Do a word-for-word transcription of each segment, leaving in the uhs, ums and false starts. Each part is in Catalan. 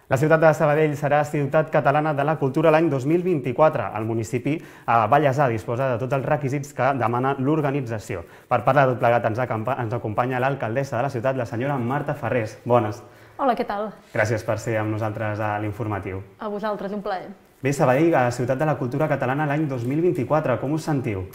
La ciutat de Sabadell serà Ciutat Catalana de la Cultura l'any dos mil vint-i-quatre. El municipi ballesà disposa de tots els requisits que demana l'organització. Per parlar de tot plegat ens acompanya l'alcaldessa de la ciutat, la senyora Marta Ferrés. Bones. Hola, què tal? Gràcies per ser amb nosaltres a l'Informatiu. A vosaltres, un plaer. Bé, Sabadell, a Ciutat de la Cultura Catalana l'any dos mil vint-i-quatre, com us sentiu?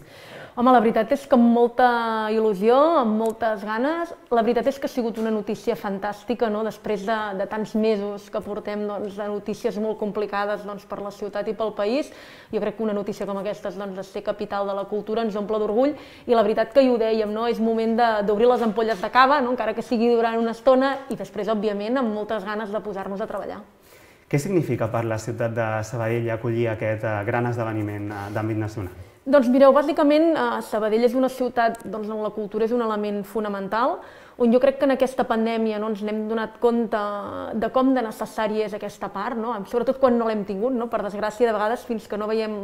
Home, la veritat és que amb molta il·lusió, amb moltes ganes. La veritat és que ha sigut una notícia fantàstica, no? Després de, de tants mesos que portem doncs, de notícies molt complicades doncs, per la ciutat i pel país. Jo crec que una notícia com aquesta, doncs, de ser capital de la cultura, ens omple d'orgull. I la veritat que hi ho dèiem, no? És moment d'obrir les ampolles de cava, no? Encara que sigui durant una estona, i després, òbviament, amb moltes ganes de posar-nos a treballar. Què significa per la ciutat de Sabadell acollir aquest gran esdeveniment d'àmbit nacional? Doncs mireu, bàsicament Sabadell és una ciutat on la cultura és un element fonamental, on jo crec que en aquesta pandèmia ens n'hem donat compte de com de necessària és aquesta part, sobretot quan no l'hem tingut, per desgràcia, de vegades fins que no veiem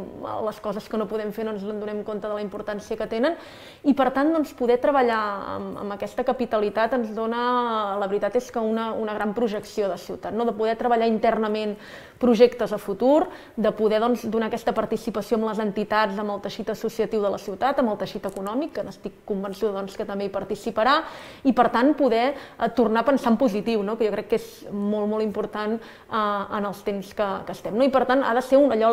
les coses que no podem fer no ens en donem compte de la importància que tenen, i per tant poder treballar amb aquesta capitalitat ens dona, la veritat és que una gran projecció de ciutat, de poder treballar internament projectes a futur, de poder donar aquesta participació amb les entitats, amb el teixit associatiu de la ciutat, amb el teixit econòmic, que n'estic convençuda que també hi participarà, i per tant poder tornar a pensar en positiu, que jo crec que és molt, molt important en els temps que estem. I per tant ha de ser allò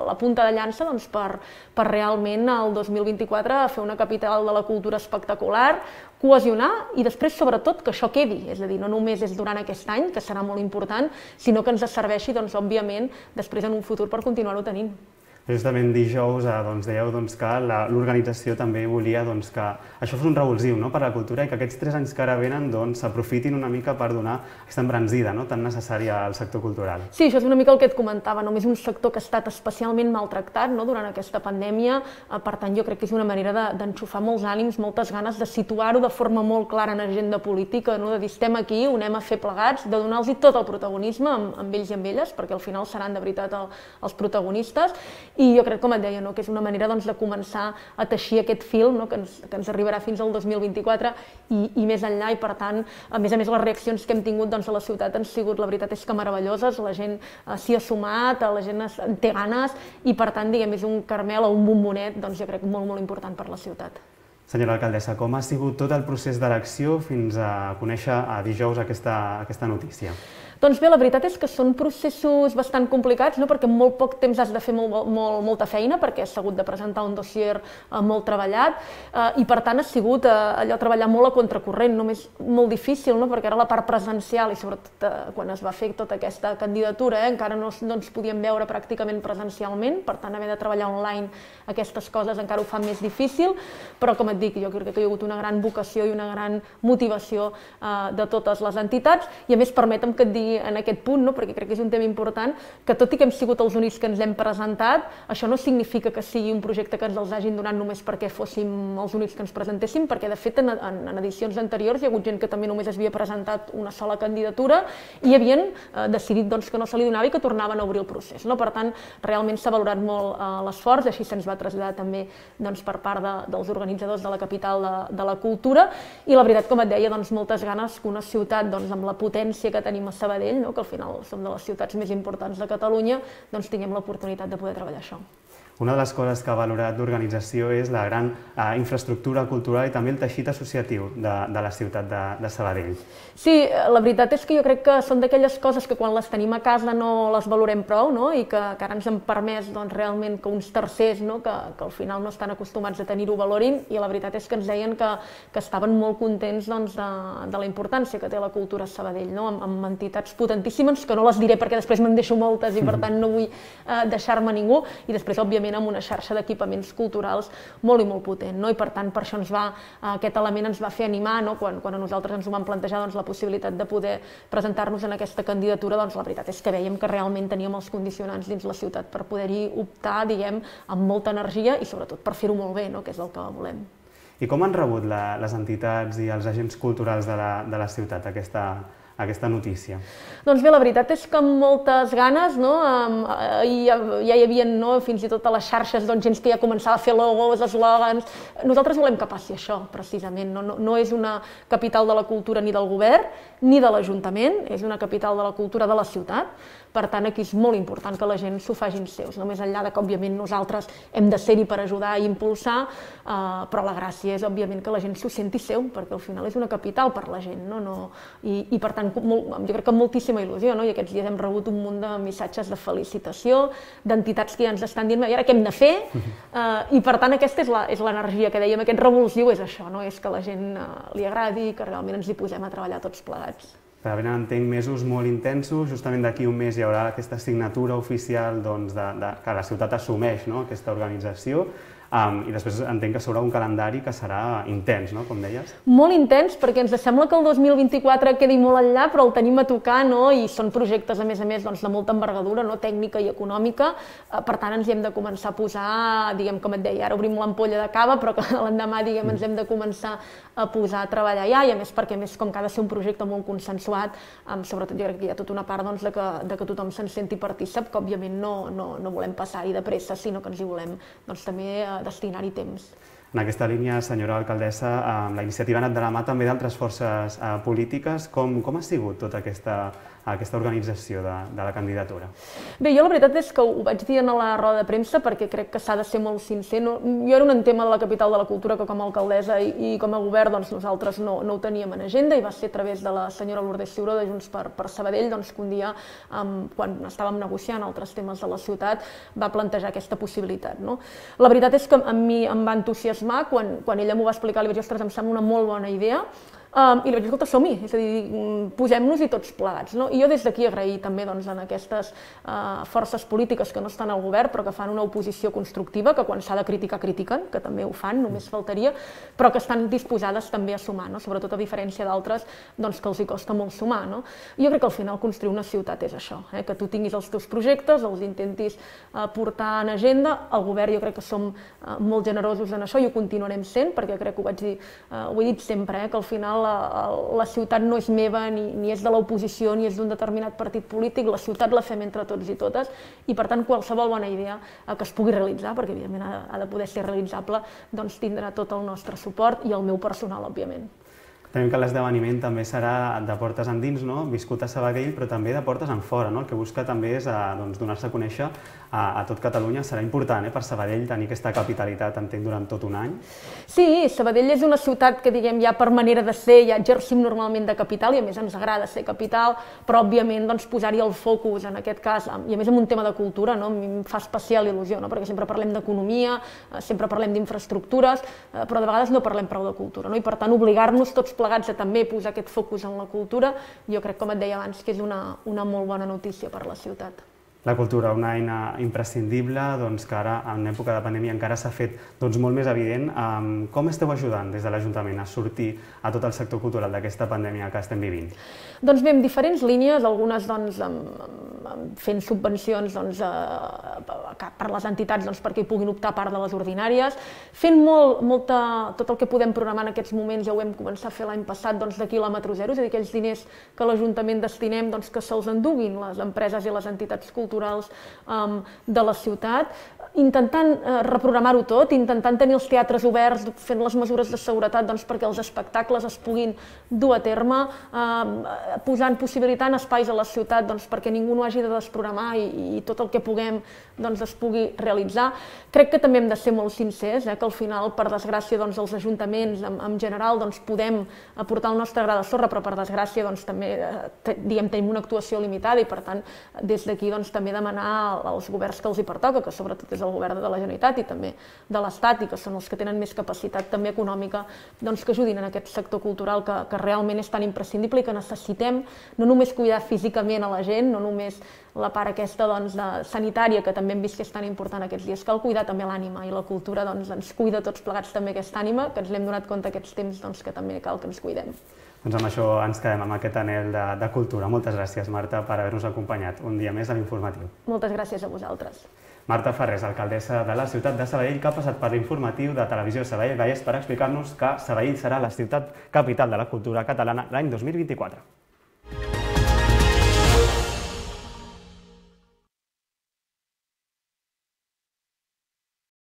la punta de llança per realment el dos mil vint-i-quatre fer una capital de la cultura espectacular, cohesionar i després, sobretot, que això quedi. És a dir, no només és durant aquest any, que serà molt important, sinó que ens serveixi, òbviament, després en un futur per continuar-ho tenint. Justament dijous dèieu que l'organització també volia que això fos un revulsiu per a la cultura i que aquests tres anys que ara venen s'aprofitin una mica per donar aquesta embranzida tan necessària al sector cultural. Sí, això és una mica el que et comentava, només un sector que ha estat especialment maltractat durant aquesta pandèmia, per tant jo crec que és una manera d'enxufar molts ànims, moltes ganes de situar-ho de forma molt clara en agenda política, de dir estem aquí, ho anem a fer plegats, de donar-los tot el protagonisme amb ells i amb elles, perquè al final seran de veritat els protagonistes. I jo crec, com et deia, que és una manera de començar a teixir aquest fil que ens arribarà fins al dos mil vint-i-quatre i més enllà, i per tant, a més a més, les reaccions que hem tingut a la ciutat han sigut, la veritat és que meravelloses, la gent s'hi ha sumat, la gent en té ganes i per tant, diguem, és un caramel o un bombonet, doncs jo crec molt, molt important per la ciutat. Senyora alcaldessa, com ha sigut tot el procés d'elecció fins a conèixer dijous aquesta notícia? Doncs bé, la veritat és que són processos bastant complicats, perquè en molt poc temps has de fer molta feina, perquè has hagut de presentar un dossier molt treballat, i per tant ha sigut allò treballar molt a contracorrent, només molt difícil, perquè era la part presencial, i sobretot quan es va fer tota aquesta candidatura encara no ens podíem veure pràcticament presencialment, per tant haver de treballar online aquestes coses encara ho fa més difícil, però com et dic, jo crec que hi ha hagut una gran vocació i una gran motivació de totes les entitats, i a més permetem que et digui en aquest punt, perquè crec que és un tema important, que tot i que hem sigut els únics que ens hem presentat, això no significa que sigui un projecte que ens els hagin donat només perquè fóssim els únics que ens presentéssim, perquè de fet en edicions anteriors hi ha hagut gent que també només havia presentat una sola candidatura i havien decidit que no se li donava i que tornaven a obrir el procés. Per tant, realment s'ha valorat molt l'esforç, així se'ns va traslladar també per part dels organitzadors de la capital de la cultura, i la veritat, com et deia, moltes ganes que una ciutat amb la potència que tenim a Sabadell, que al final som de les ciutats més importants de Catalunya, doncs tinguem l'oportunitat de poder treballar això. Una de les coses que ha valorat l'organització és la gran infraestructura cultural i també el teixit associatiu de la ciutat de Sabadell. Sí, la veritat és que jo crec que són d'aquelles coses que quan les tenim a casa no les valorem prou i que ara ens han permès realment que uns tercers, que al final no estan acostumats a tenir-ho, valorin, i la veritat és que ens deien que estaven molt contents de la importància que té la cultura a Sabadell, amb entitats potentíssimes, que no les diré perquè després me'n deixo moltes i per tant no vull deixar-me ningú, i després, òbviament, amb una xarxa d'equipaments culturals molt i molt potent, i per tant per això aquest element ens va fer animar, quan a nosaltres ens ho vam plantejar la possibilitat de poder presentar-nos en aquesta candidatura, doncs la veritat és que vèiem que realment teníem els condicionants dins la ciutat per poder-hi optar, diguem, amb molta energia i sobretot per fer-ho molt bé, que és el que volem. I com han rebut les entitats i els agents culturals de la ciutat aquesta notícia? Doncs bé, la veritat és que amb moltes ganes, no? Ja, ja hi havia, no? Fins i tot a les xarxes doncs, gent que ja començava a fer logos, eslògans. Nosaltres volem que passi això, precisament. No, no, no és una capital de la cultura ni del govern ni de l'Ajuntament, és una capital de la cultura de la ciutat. Per tant, aquí és molt important que la gent s'ho facin seus, no més enllà de que, òbviament, nosaltres hem de ser-hi per ajudar i impulsar, eh, però la gràcia és, òbviament, que la gent s'ho senti seu, perquè al final és una capital per la gent, no? No, i, i, per tant, molt, jo crec que amb moltíssima il·lusió, no? I aquests dies hem rebut un munt de missatges de felicitació, d'entitats que ja ens estan dient, i ara què hem de fer? Eh, I, per tant, aquesta és la, és l'energia que dèiem, aquest revulsiu és això, no? És que la gent eh, li agradi, que realment ens hi posem a treballar tots plegats. Per venen, entenc, mesos molt intensos, justament d'aquí un mes hi haurà aquesta signatura oficial doncs, de, de, que la ciutat assumeix, no? Aquesta organització, um, i després entenc que s'haurà un calendari que serà intens, no? Com deies. Molt intens, perquè ens sembla que el dos mil vint-i-quatre quedi molt enllà, però el tenim a tocar, no? I són projectes, a més a més, doncs, de molta envergadura, no? Tècnica i econòmica, per tant ens hi hem de començar a posar, diguem, com et deia, ara obrim l'ampolla de cava, però que l'endemà, diguem, ens hem de començar a posar a treballar ja, i a més perquè, a més, com que ha de ser un projecte molt consensuat, um, sobretot jo crec que hi ha tota una part doncs, de, que, de que tothom se'n senti partícip, que òbviament no, no, no volem passar-hi de pressa, sinó que ens hi volem doncs, també uh, destinar-hi temps. En aquesta línia, senyora alcaldessa, la iniciativa ha anat de la mà també d'altres forces polítiques. Com, com ha sigut tota aquesta, aquesta organització de, de la candidatura? Bé, jo la veritat és que ho vaig dir a la roda de premsa perquè crec que s'ha de ser molt sincer. No, jo era un tema de la capital de la cultura que com a alcaldessa i, i com a govern doncs, nosaltres no, no ho teníem en agenda, i va ser a través de la senyora Lourdes Ciuró de Junts per, per Sabadell doncs, que un dia, um, quan estàvem negociant altres temes de la ciutat, va plantejar aquesta possibilitat. No? La veritat és que a mi em va entusiasmar Quan, quan ella m'ho va explicar, li vaig dir, ostres, em sembla una molt bona idea, um, i li vaig dir, escolta, som-hi, és a dir, posem-nos-hi tots plegats. No? I jo des d'aquí agrair també doncs, en aquestes uh, forces polítiques que no estan al govern, però que fan una oposició constructiva, que quan s'ha de criticar, critiquen, que també ho fan, només faltaria, però que estan disposades també a sumar, no? Sobretot a diferència d'altres doncs, que els hi costa molt sumar. No? I jo crec que al final construir una ciutat és això, eh? Que tu tinguis els teus projectes, els intentis uh, portar en agenda. El govern jo crec que som uh, molt generosos en això i ho continuarem sent, perquè crec que ho vaig dir, uh, ho he dit sempre, eh? Que al final la, la ciutat no és meva, ni, ni és de l'oposició, ni és d'un determinat partit polític, la ciutat la fem entre tots i totes, i per tant qualsevol bona idea uh, que es pugui realitzar, perquè evidentment ha, ha de poder ser realitzable, doncs tindrà tot el nostre suport i el meu personal, òbviament. Tenim que l'esdeveniment també serà de portes endins, no? Viscut a Sabadell, però també de portes enfora, no? El que busca també és doncs, donar-se a conèixer a, a tot Catalunya. Serà important eh, per Sabadell tenir aquesta capitalitat, entenc, durant tot un any. Sí, Sabadell és una ciutat que, diguem, ja per manera de ser, ja exercim normalment de capital, i a més ens agrada ser capital, però òbviament doncs, posar-hi el focus, en aquest cas, i a més en un tema de cultura, no? A mi em fa especial il·lusió, no? Perquè sempre parlem d'economia, sempre parlem d'infraestructures, però de vegades no parlem prou de cultura, no? I per tant obligar-nos tots plegats a també posar aquest focus en la cultura, jo crec, com et deia abans, que és una, una molt bona notícia per a la ciutat. La cultura, una eina imprescindible, doncs, que ara, en època de pandèmia, encara s'ha fet doncs, molt més evident. Um, com esteu ajudant des de l'Ajuntament a sortir a tot el sector cultural d'aquesta pandèmia que estem vivint? Doncs bé, en diferents línies, algunes doncs, amb, amb, fent subvencions doncs, a, per les entitats doncs, perquè hi puguin optar a part de les ordinàries, fent molt, molta, tot el que podem programar en aquests moments, ja ho vam començar a fer l'any passat, doncs, de quilòmetre zero, és a dir, aquells diners que l'Ajuntament destinem doncs, que se'ls enduguin les empreses i les entitats culturals Um, de la ciutat, intentant uh, reprogramar-ho tot, intentant tenir els teatres oberts, fent les mesures de seguretat doncs, perquè els espectacles es puguin dur a terme, uh, posant, possibilitant espais a la ciutat doncs, perquè ningú no hagi de desprogramar i, i tot el que puguem doncs, es pugui realitzar. Crec que també hem de ser molt sincers, eh, que al final, per desgràcia, doncs, els ajuntaments en, en general doncs, podem aportar el nostre gra de sorra, però per desgràcia doncs, també eh, diguem, tenim una actuació limitada i per tant des d'aquí doncs, també demanar als governs que els hi pertoca, que sobretot és el govern de la Generalitat i també de l'Estat i que són els que tenen més capacitat també econòmica, doncs, que ajudin en aquest sector cultural que, que realment és tan imprescindible i que necessitem no només cuidar físicament a la gent, no només la part aquesta doncs, de, sanitària, que també hem vist que és tan important aquests dies, cal cuidar també l'ànima i la cultura doncs, ens cuida tots plegats també aquesta ànima, que ens l'hem donat compte aquests temps doncs, que també cal que ens cuidem. Doncs amb això ens quedem amb aquest anhel de, de cultura. Moltes gràcies, Marta, per haver-nos acompanyat un dia més a l'Informatiu. Moltes gràcies a vosaltres. Marta Ferrés, alcaldessa de la ciutat de Sabadell, que ha passat per l'Informatiu de Televisió Sabadell Vallès per explicar-nos que Sabadell serà la ciutat capital de la cultura catalana l'any dos mil vint-i-quatre.